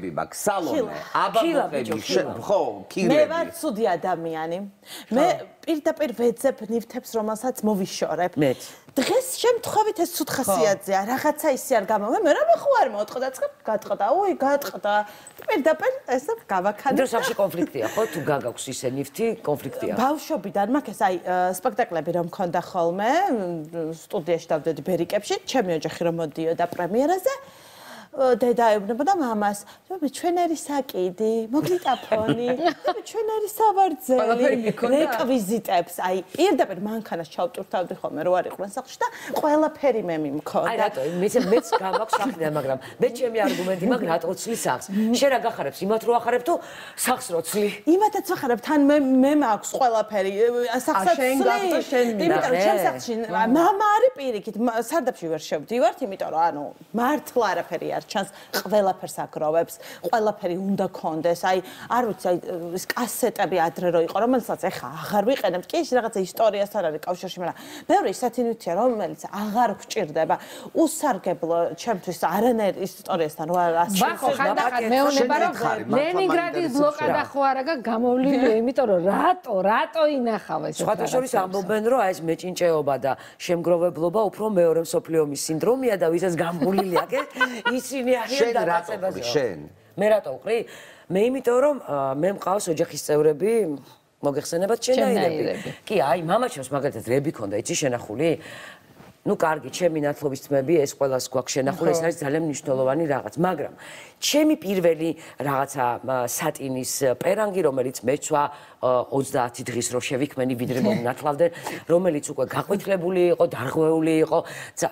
მაქვს სალომე, აბაბოყები, ხო, ქილები. მე ვარ ცუდი ადამიანი. მე პირდაპირ ვეძებ ნივთებს, რომელსაც მოვიშორებ. დღეს შემთხვევით ეს ცუდ ხასიათზეა, რაღაცა ისე არ გამომე, მე რა ხوار მოტყდა და გატყდა, გატყდა. პირდაპირ ესე გავაქანე. დრო სახში კონფლიქტია, ხო? თუ გაგაქვს ისე ნივთი, კონფლიქტია. ბავშვობიდან მაქვს ეს სპექტაკლები რომ მქონდა ხოლმე, სტუდიაში დავდედი ბერიკებში, ჩემი ოჯახი რომ მოდიოდა პრემიერაზე. დედა ეუბნებოდა მამას, ჩვენერი საკიდი, მოგლიტაფონი, ჩვენერი სავარძელი, რეკვიზიტებს, აი, პირდაპირ მანქანას ჩავტვირთავდი ხოლმე, რო არ იყვნენ სახლში და ყველაფერი მე მიმქონდა. აი რატო, მეც გამაქვს სახლიდან, მაგრამ მე ჩემი არგუმენტი მაქვს, რატო ცლი სახლს. შენ რა გახარებს, იმათ რო ახარებ თუ სახლს რო ცლი? იმათაც ვახარებ, თან მე მაქვს ყველაფერი, სახლსაც ცლი. იმიტომ რომ ჩემ სახლში მამა არის პირიქით, სარდაფში ვერ შევდივართ, იმიტომ რომ ანუ მართლა არაფერი არ ჩანს ყველაფერს აგროვებს, ყველაფერი უნდა კონდეს, აი არ ვიცი, აი ეს კასეტები ადრე რო იყო, რომელსაც ეხა აღარ ვიყენებთ, კი ის რაღაცა ისტორიასთან არის კავშირში, მაგრამ მეორე ისეთი ნივთია, რომელიც აღარ გვჭირდება, უსარგებლო ჩემთვის არანაირ ისტორიასთან რო არ ასწავლე. ბახო, ხანდახან მეუნება რომ ლენინგრადის ბლოკადა ხო არა გამოვლინია, იმიტომ რომ რატო ინახავ ეს. სხვათა შორის ამბობენ, რომ აი ეს მეჭინჭეობა და შემგროვებლობა უფრო მეორე მსოფლიო ომის სინდრომია და ვისაც გამგულილი აქვს, ისინი არიან დაწებაზე. შენ. მე რატო ვყრი? მე იმიტომ რომ მე მყავს ოჯახის წევრები, მოგეხსენებათ შენაირები. კი, აი, მამაჩემს მაგალითად რები ქონდა, იცი შენახული? ნუ კარგი, ჩემი ნათლობის თმები, ეს ყველას გვაქვს შენახული, ეს არის ძალიან მნიშვნელოვანი რაღაც, მაგრამ ჩემი პირველი რაღაცა სატინის პერანგი, რომელიც მეცვა 30 დღის რო შევიქმენი, ვიდრე მომნათლავდნენ, რომელიც უკვე გაყვითლებული იყო, დარღვეული იყო.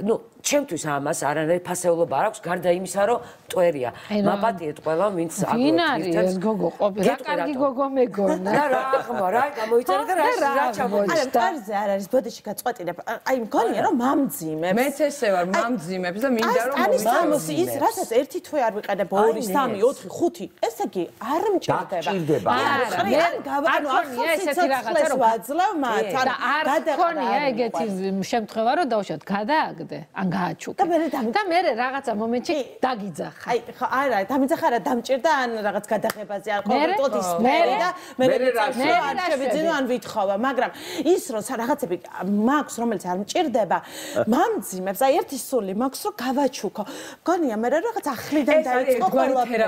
ნუ ჩემთვის ამას არანაირი ფასეულობა არ აქვს, გარდა იმისა, რომ მტვერია. მაპატიეთ ყველა, ვინც აგვეთ. ვინ არის ეს გოგო ყოფილი? რა კარგი გოგო მეგონა. რა ახმა, რა გამოიწერე და რა ჩამოიწერე. არა, კარზე არ არის ბოდიში გაწყვეტინებ. აი მგონია რომ მამძიმებს. მეც ესე ვარ, მამძიმებს და მინდა რომ მოვიწყო. ის რასაც ერთი თვე არ ვიყენებ, 2, 3, 4, 5, ესე იგი არ მჭირდება. არა, ანუ ახლა ესეთი რაღაცა რომ ვაძლევ მათ, და არ გქონია ეგეთი შემთხვევა რომ დავუშვათ, გადააგდე, ან გააჩუქე. და მე რაღაცა მომენტში დაგიძახა. აი, ხო, არა, დამიძახა რა, დამჭირდა ან რაღაც გადაღებაზე არ კონკრეტულად ისმერი და მე არ შევიძინო ან ვითხოვა, მაგრამ ის რომ რაღაცები მაქვს, რომელიც არ მჭირდება, მამძიმებს, აი ერთი სული მაქვს, რომ გავაჩუქო. გონია მე რაღაც ახლიდან დაიწყო ყველაფერი.